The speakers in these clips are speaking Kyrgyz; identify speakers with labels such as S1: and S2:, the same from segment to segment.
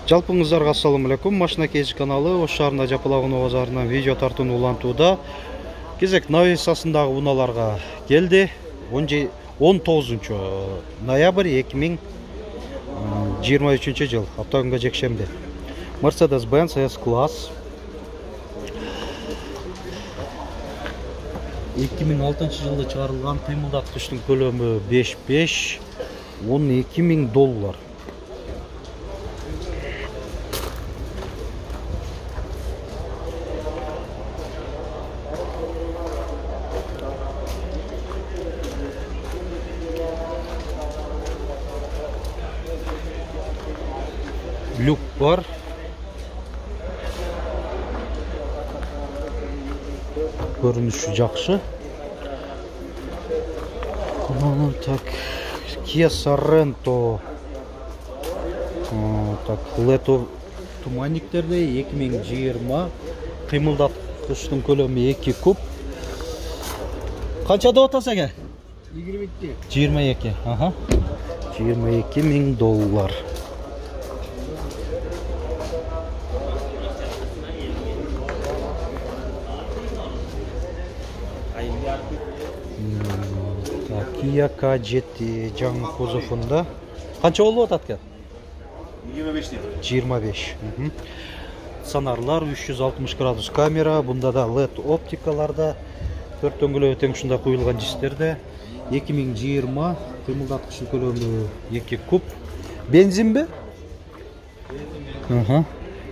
S1: Жалпыңыздарга ассаламу алейкум. Машина Кейж каналы Ош шаарында Жапалак базарынан видео тартууну улантууда. Кезек навесасындагы унааларга келди. 19 ноябрь 2023 жыл, аптагүнгө жекшемби. Mercedes-Benz S-класс 2006 жылы чыгарылган, кыймылдаткычтын көлөмү 5.5, $12.000. Люк бар. Көрүнүшү жакшы. Так, Kia Sorento. Так, LED туманниктерде 2020, кыймылдаткычтын көлөмү 2 куб. Канча деп атасың эке? 22. Ага. $22.000. Kia K7 жаңы кузовунда. Канча болуп атат экен? 25. Сонарлар 360 градус камера, бунда да LED оптикаларда, төрт дөңгөлөк тең ушундай куюлган дистерде. 2020, кыймылдаткычтын көлөмү 2 куб. Бензинби?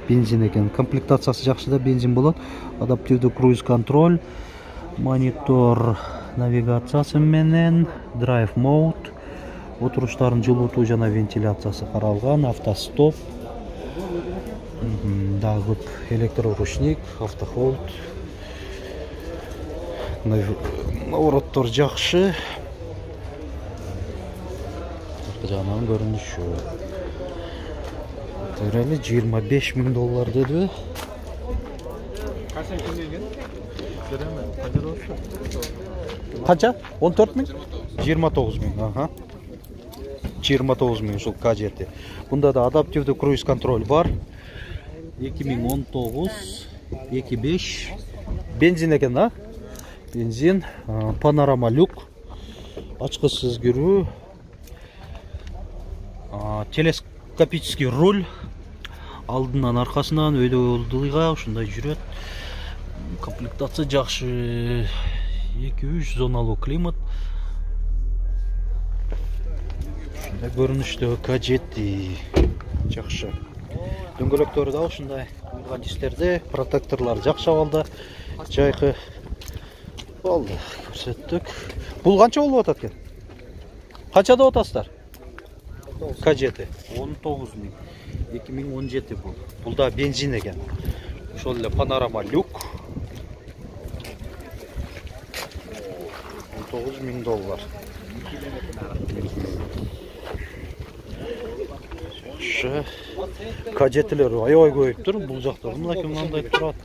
S1: Бензин экен. Комплектациясы жакшы да, бензин болот. Адаптивдүү круиз контроль, монитор навигациясы менен, драйв мод, отуруштардын жылуутуу жана вентиляциясы каралган, автостоп, дагы электроручник, автохолд, навороттор жакшы. Жанагы көрүнүшү. Төрөлү $25.000 дедиби? Канча? 14.000? 29.000. Ага. 29.000 ушул K7. Бунда да адаптивдүү круиз контроль бар. 2019, 2.5. Бензин экен, а? Бензин, панорама люк, ачкычсыз кирүү, телескопический руль, алдынан аркасынан өйдө ушундай жүрөт. Комплектация жакшы. 2-3 зоналуу климат. Ушундай көрүнүштө K7 жакшы. Дөңгөлөктөрү да ушундай куюлган дистерде, протекторлор жакшы абалда. Жайкы болду, көрсөттүк. Бул канча болуп атат экен? Канча деп атасыздар? K7 19.000. 2017 бул. Бул да бензин экен. Ошол эле панорама люк. $9.000. K7'лер аябай көбөйүптүр. Бул жакта мынакей мындай турат.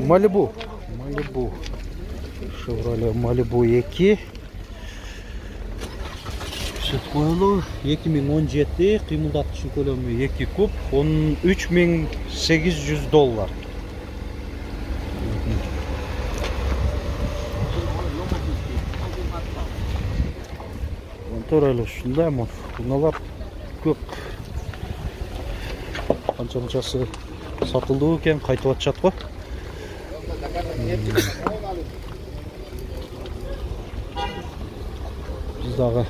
S1: Malibu. Chevrolet Malibu 2. Сөт коелу. 2017, кыймылдаткычтын көлөмү 2 куб, $13.800. Төрөлү ушундай унаалар көп. Канчасы сатылды экен, кайтып атышат го. Биз дагы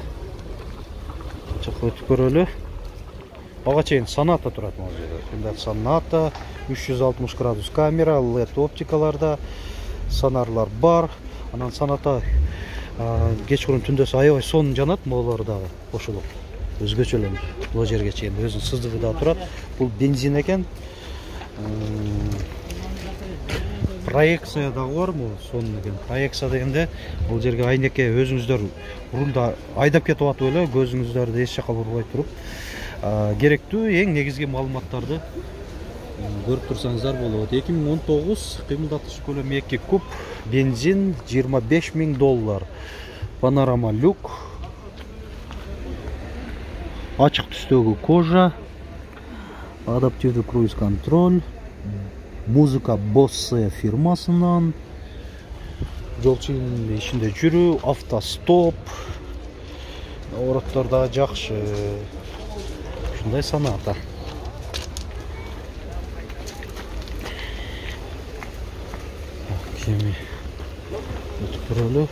S1: чакы өтүп көрөлү. Ага чейин Sonata турат могу жерде. Hyundai Sonata, 360 градус камера, LED оптикаларда, сонарлар бар. Анан Sonata кечкурун түндөсү аябай сонун жанат, моолору дагы кошулуп. Өзгөчө эле бул жерге чейин өзүнүн сыздыгы да турат. Бул бензин экен. Проекция дагы бармы? Сонун экен. Проекция дегенде бул жерге айнекке өзүңүздөр рулда айдап кетип атып эле көзүңүздөрдү эч жака бурбай туруп, керектүү эң негизги маалыматтарды көрүп турсаңыздар болот. 2019, кыймылдаткыч көлөмү 2 куб, бензин $25.000. Панорама люк, ачык түстөгү кожа, Адаптивдүү круиз контроль, музыка Bose фирмасынан, жол чыгымы ичинде жүрүү, автостоп, ороттор да жакшы. Ушундай Sonata. Кеми өтүп көрөлү.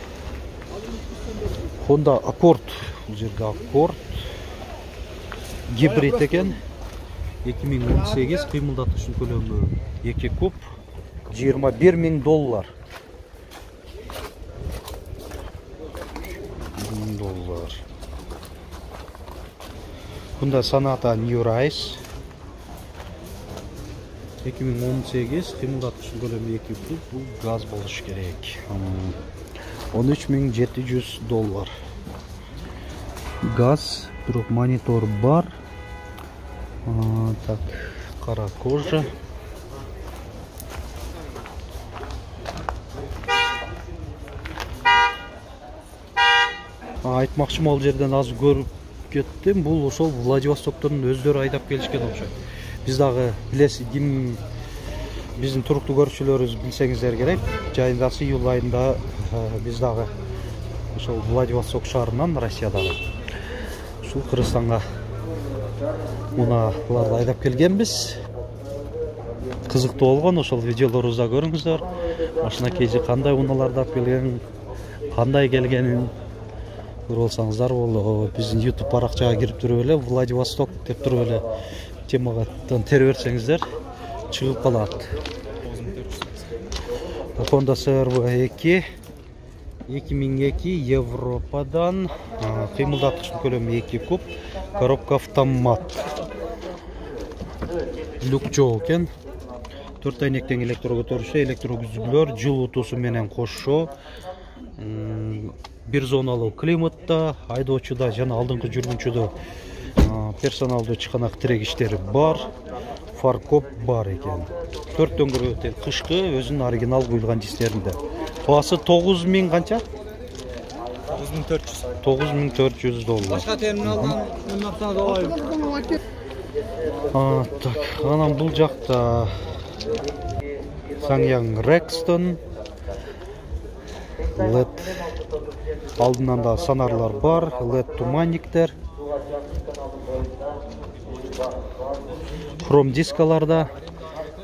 S1: Honda Accord, бул жерде Accord гибрид экен. 2018, кыймылдатуштун көлөмү 2 куб, $21,000. $1,000. Honda Sonata New Rise 2018, кыймылдатуштун көлөмү 2 куб, бул газ болуш керек. $13,700. Газ, бирок монитор бар. Так, кара кожа. Айтмакчымын, ал жерден аз көрүп кеттим. Бул ошол Владивостоктон өздөрү айдап келишкен окшойт. Биз дагы билесиз, ким биздин туруктуу көрүүчүлөрүбүз билсеңиздер керек. Жайындасы июль айында биз дагы ошол Владивосток шаарынан, Россиядагы ушул Кыргызстанга муналарды айдап келгенбиз. Кызыктуу болгон, ошол видеолорубузда көрүңүздөр. Машина кежи кандай унааларды алып келген, кандай келгенин көрүп алсаңыздар болот. Биздин YouTube баракчага кирип туруп эле Владивосток деп туруп эле темага тере берсеңиздер чыгып калат. Honda CR-V 2002 Европадан, кыймылдатуштун көлөмү 2 куб, коробка автомат. Люк жок экен. 4 айнектен электро көтөрүшү, электро күзгүлөр, жылуутуусу менен кошо. Бир зоналуу климатта, айдоочуда жана алдыңкы жүргүнчүдө персоналдуу чыканак тирегичтери бар. Фаркоп бар экен. 4 дөңгөрө тең кышкы, өзүнүн оригинал куюлган дисклеринде. Баасы 9.000 канча?
S2: 9400.
S1: $9,400.
S2: Башка терминалдан уйнатсаңыз алайын.
S1: Так, анан бул жакта Sanyang Rexton LED алдынан да сонарлар бар, LED туманниктер. Хром дискаларда,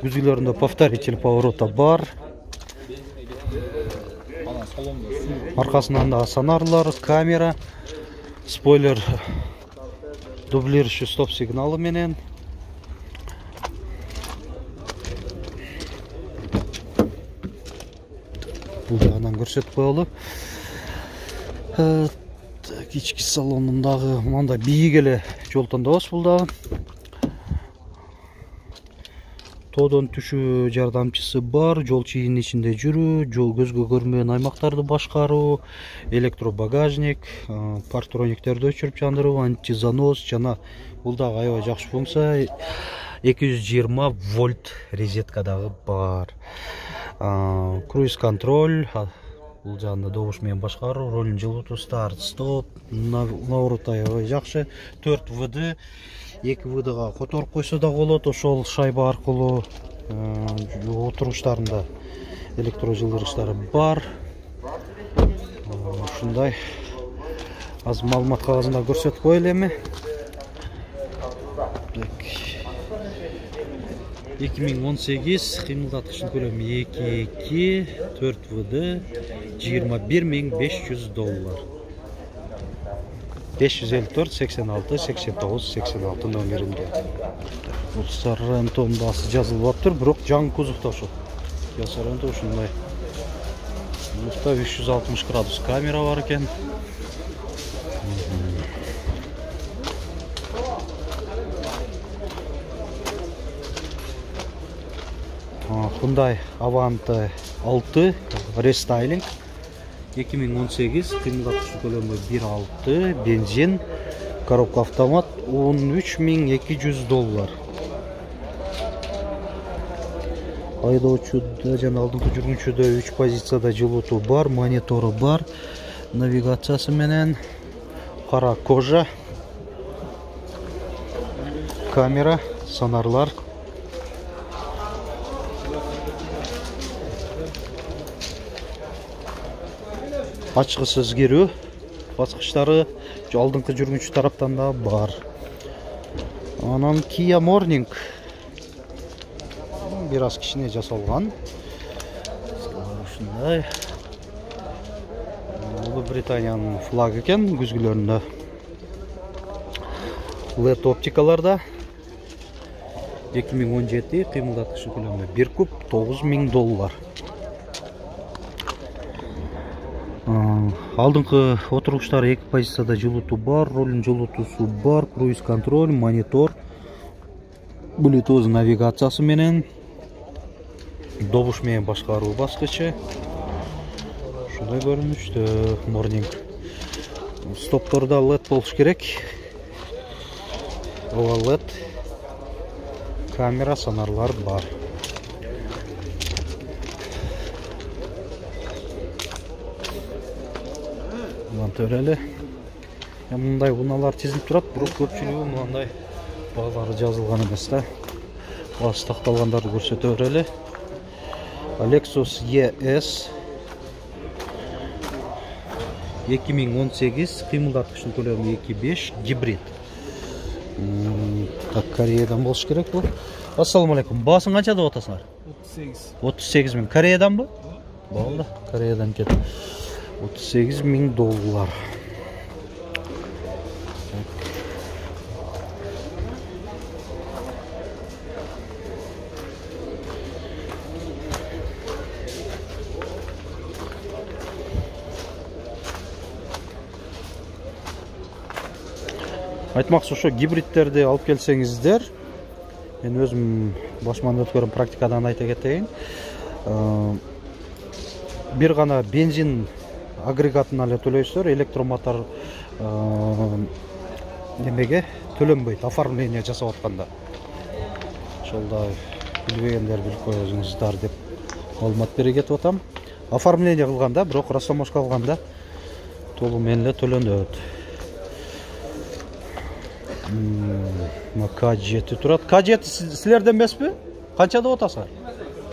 S1: күзгүлөрүндө повторитель поворота бар. Аркасынан да сонарлар, камера, спойлер дублирующий стоп сигналы менен. Бул жагынан көрсөтүп коелу. Ички салонундагы мындай бийик эле жол тандабыз бул дагы. Тоодон түшүү жардамчысы бар, жол чыйынын ичинде жүрүү, жол көзгө көрмөгөн аймактарды башкаруу, электробагажник, партрониктерди өчүрүп жандыруу, антизанос жана бул дагы аябай жакшы функция. 220 вольт розетка дагы бар. Круиз контроль, бул жагында добуш менен башкаруу, ролун жылытуу, старт, стоп, наворот аябай жакшы. 4 ВД, 2 ВДга которуп койсо да болот, ошол шайба аркылуу отургучтарында электро жылдыргычтары бар. Ушундай аз маалымат кагазында көрсөтүп коелу эми. 2018, кыймылдатуштун көлөмү 2.2, 4 ВД, $21,500. 554 86 89 86 номеринде. Бул Sorrento'нун баасы жазылып аптыр, бирок жаңы кузовто ошол. Sorrento ушундай. Муста 360 градус камера бар экен. Hyundai Avante 6 рестайлинг 2018, кыймылдатуштун көлөмү 1.6, бензин, коробка автомат, $13,200. Айдоочуда жана алдыңкы жүргүнчүдө 3 позицияда жылуутуу бар, монитору бар, навигациясы менен, кара кожа, камера, сонарлар. Ачкысы өзгөрүү баскычтары алдыңкы жүргүнчү тараптан да бар. Анан Kia Morning бир аз кичине жасалган. Ушундай. Улуу Британиянын флагы экен, күзгүлөрүндө. LED оптикаларда 2017 кыймылдаткычы көлөмү 1 куб $9,000. Алдыңкы отургучтар 2 позицияда жылытуу бар, рулдун жылытуусу бар, круиз контроль, монитор, Bluetooth навигациясы менен, добуш менен башкаруу баскычы. Ушундай көрүнүштө Morning. Стопторда LED болуш керек. Ова LED. Камера, сонарлар бар. Төреле. Мындай унаалар тизилип турат, бирок көпчүлүгү мындай баалары жазылган эмес да. Баасы такталгандарды көрсөтө берели. Lexus ES 2018 кыймылдаткычтын көлөмү 2.5 гибрид. Так, Кореядан болуш керек бул. Ассаламу алейкум. Баасын канча деп атасыңар? 38 миң. Кореяданбы? Болду, Кореядан кет. $38,000. Айтмакчы ошо гибридтерди алып келсеңиздер, мен өзүм башыман өткөргөн практикадан айта кетейин. Бир гана бензин агрегатына эле төлөйсүздөр, электромотор немеге төлөнбөйт, оформление жасап атканда. Ошолда билбегендер билип коюңуздар деп маалымат бере кетип атам. Оформление кылганда, бирок растаможка алганда толук менен эле төлөнөт. K7 турат. K7 силерден эмеспи? Канча деп атасыңар?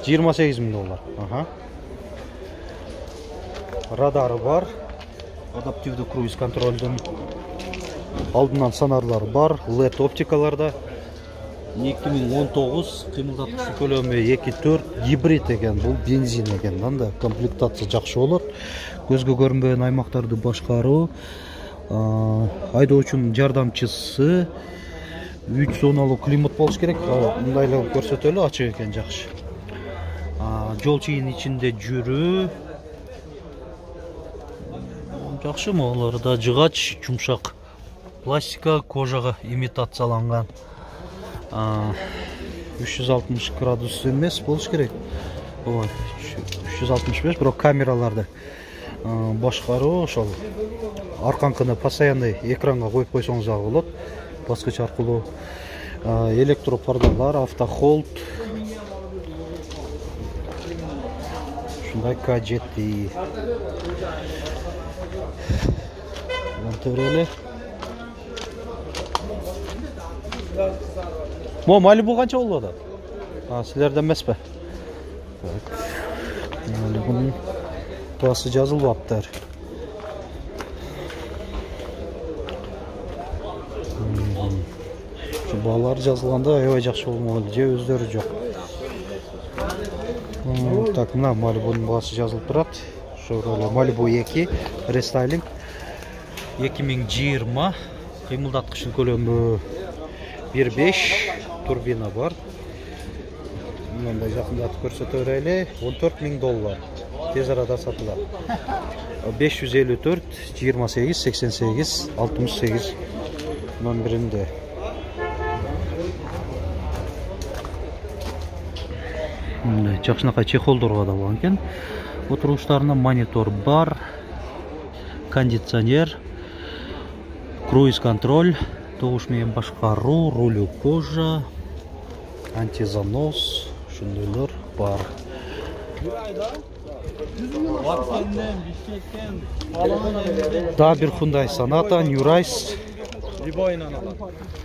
S1: $28,000. Аха. Радары бар. Адаптивдүү круиз контролдун алдынан сонарлар бар. LED оптикаларда 2019 кыймылдаткычы көлөмү 2.4 гибрид экен. Бул бензин экен да. Комплектация жакшы болот. Көзгө көрүнбөгөн аймактарды башкаруу, айдоочунун жардамчысы, 3 зоналуу климат болуш керек. Мындай эле көрсөтөлү, ачык экен, жакшы. Жол чыйын ичинде жүрүү жакшы, могуларда жыгач, жумшак пластика, кожага имитацияланган. 360 градус эмес болуш керек. Ой, 365, бирок камераларды башкаруу ошол арканкыны постоянный экранга коюп койсоңуз дагы болот. Баскыч аркылуу электропардалар, автохолд. Ушундай K7. Монтореле. Мо Malibu канча болуп атат? Силерден эмеспи? Так. Malibu'нун баасы жазылбаптыр. Баалар жазылганда аябай жакшы болмок эле, же өздөрү жок. Так, мына Malibu'нун баасы жазылып турат. Chevrolet Malibu 2 рестайлинг 2020 кыймылдаткычтын көлөмү 1.5, турбина бар. Мындай жакындатып көрсөтө берели. $14,000. Тез арада сатылат. 554 28 88 68 номеринде. Мындай жакшынакай чехолдорго да болгон экен. Отургучтарында монитор бар, кондиционер, круиз контроль, добуш менен башкаруу, рулю кожа, антизанос, ушундайлар бар. Да, бир Hyundai Sonata, New Rise
S2: Любойнан алат.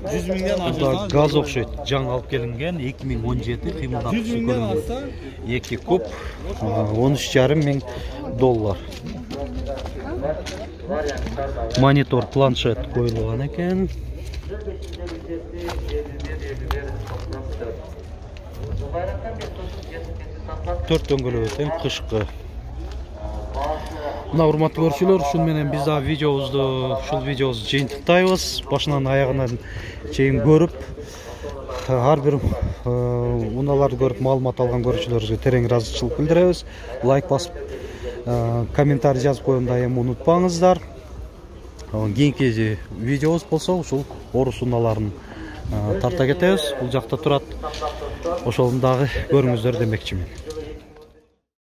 S2: 100 миңден
S1: Буда
S2: ашса
S1: газ окшойт. Жаңы алып келинген 2017 кыймылдап
S2: 100 миңден ашса
S1: 2 куб 13,5 миң доллар. Монитор, планшет коюлган экен. Төрт дөңгөлөк тең кышкы. Мына урматтуу көрүүчүлөр, ушун менен биз да ушул видеобузду жыйынтыктайбыз. Башынан аягына чейин көрүп, ар бир унааларды көрүп маалымат алган көрүүчүлөрүбүзгө терең ыраазычылык билдиребиз. Лайк басып, комментарий жазып коюуну эми унутпаңыздар. Кийинки видеобуз болсо ушул орус унааларын тарта кетебиз. Бул жакта турат. Ошолун дагы көрүңүздөр демекчимин.